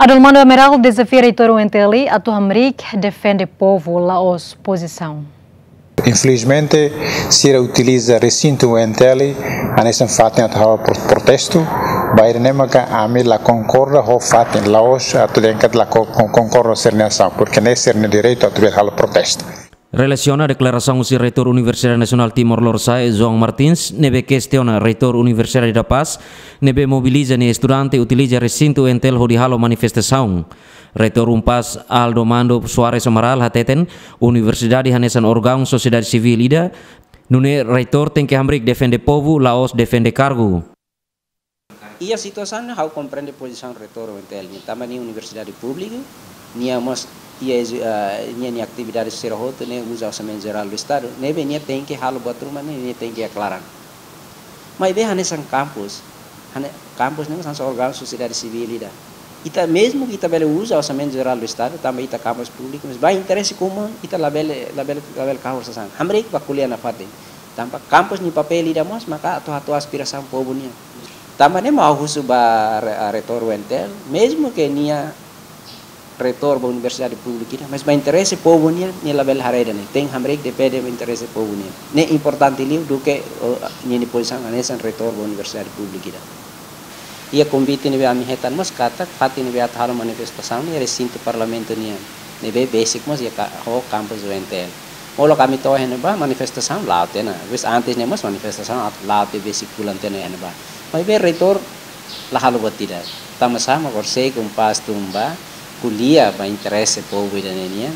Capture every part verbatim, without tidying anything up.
Dalmando Amaral dezafia reitór U N T L atu hamriik defende povu, la'ós pozisaun. Infelizmente, sira utiliza resintu U N T L hanesan fatin atu halo pro-, protestu. Ba ida-ne'e maka ami la konkorda ho fatin, la'ós atu dehan katak la ko-, kon-, konkorda ho sira-nia asaun, porque ne'e sira-nia direitu atu bele halo protestu. Relasiona deklarasaun husi Reitór Universidade Nasionál Timor Lorosa'e, João Martins, ne'ebé kestiona Reitór Universidade da Paz, ne'ebé mobiliza nia estudante utiliza resintu U N T L hodi halo manifestasaun. Reitór UNPAZ, Aldo Mando Soares Amaral, hateten, universidade hanesan órgaun sosiedade sivíl ida, nune'e reitór tenke hamriik defende povu, la'ós defende kargu. Iha situasaun ne'e ha'u komprende pozisaun reitór U N T L nian, tanba nia universidade públika, nia mós iha, eh, nia, nia atividade sira hotu ne'e uza orsamentu jerál do Estadu, ne'ebé nia tenke halo buat ruma ne'e, nia tenke iha klaran. Maibé hanesan kampus, hane-, kampus ne'e hanesan órgaun sosiedade sivíl ida. Ita mezmu ke ita bele uza orsamentu jerál do Estadu, tanba ita kampus públiku, mas ba interese komun ita labele, labele, labele kahur sasán. Hamriik ba ko'alia nafatin. Tanba kampus nia papél ida mós maka atu hato'o aspirasaun povu nian. Tanba ne'e mak ha'u husu ba re-, a, reitór U N T L, mezmu ke nia reitór ba universidade públika ida, mas ba interese povu nian, nia labele haree ida-ne'e. Tenke hamriik defende ba interese povu nian. Ne'e importante liu duké, o, nia, nia pozisaun hanesan reitór ba universidade públika ida. Iha konvite ne'ebé ami hetan mós katak, fatin ne'ebé atu halo manifestasaun ne'e resintu parlamentu nian. Ne'ebé besik mós iha ka-, ho kampus U N T L. Molok ami to'o iha ne'ebá manifestasaun la'o tiha ona. Vez antes ne'e mós manifestasaun at-, la'o tiha besik fulan tiha ona iha ne'ebá. Maibé reitór la halo buat ida. Tanba sá mak horisehik UNPAZ tun bá ko'alia ba interese povu ida-ne'e nian.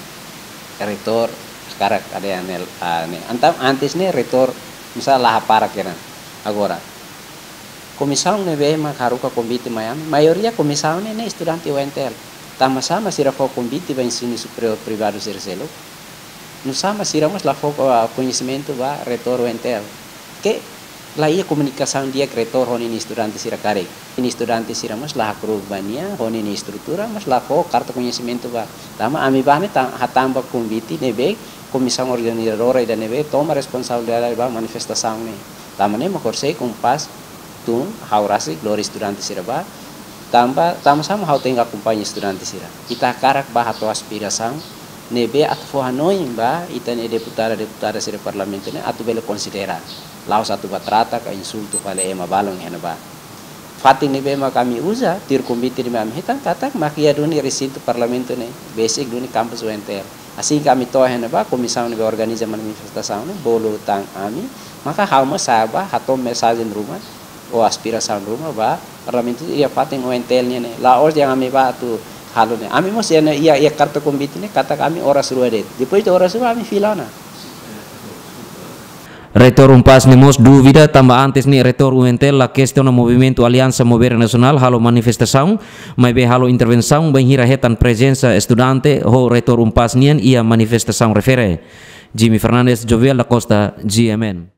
Reitór hakarak ade anel, ah, ne'e. Entaun antes ne'e reitór mós la hapara keran. Agora, komisaun ne'ebé mak haruka konvite mai ami, maioria komisaun ne'e, ne'e estudante U N T L. Tanba sá mak sira fó konvite ba ensinu superiór privadu sira seluk. Nusá mak sira mós la fó ko-, koñesimentu ba reitór U N T L. Ke la iha komunikasaun di'ak reitór ho ninia estudante sira karik. Ninia estudante sira mós la hakru'uk ba nia, ho ninia estrutura, mas la fó karta koñesimentu ba. Tanba ami bá ne'e ta-, hatán ba konvite ne'ebé komisaun organizadora ida ne'ebé toma responsabilidade ba manifestasaun ne'e. Tanba ne'e mak horisehik UNPAZ tun, ha'u rasik lori estudante sira bá. Tanba, tanba sá mak ha'u tenke akompaña estudante sira. Ita hakarak bá hato'o aspirasaun ne'ebé atu fó hanoin ba ita-nia deputada, deputada sira parlamentu ne'e atu bele konsidera. La'ós atu bá trata ka insultu fali ema balun iha ne'ebá. Fatin ne'ebé mak ami uza, tuir konvite ne'ebé ami hetan katak mak iha duni resintu parlamentu ne'e, besik duni kampus U N T L. Asin ke ami to'o iha ne'ebá, komisaun ne'ebé organiza manifestasaun ne'e bolu tan ami, maka ha'u mós sa'e bá hato'o mensajen ruma, ou aspirasaun ruma ba parlamentu iha fatin U N T L nian ne'e. La'ós dehan ami bá atu halo ne'e. Ami mós iha ne'e, iha, iha karta konvite ne'e katak ami oras rua de'it. Depois de oras rua ami fila ona. Reitór UNPAZ ne'e mós dúvida, tanba antes ne'e reitór U N T L la kestiona movimentu Aliansa Mover Nasionál halo manifestasaun, maibé halo intervensaun bainhira hetan prezensa estudante ho reitór UNPAZ nian iha manifestasaun refere. Jimmy Fernandes, Jovial da Costa, G M N.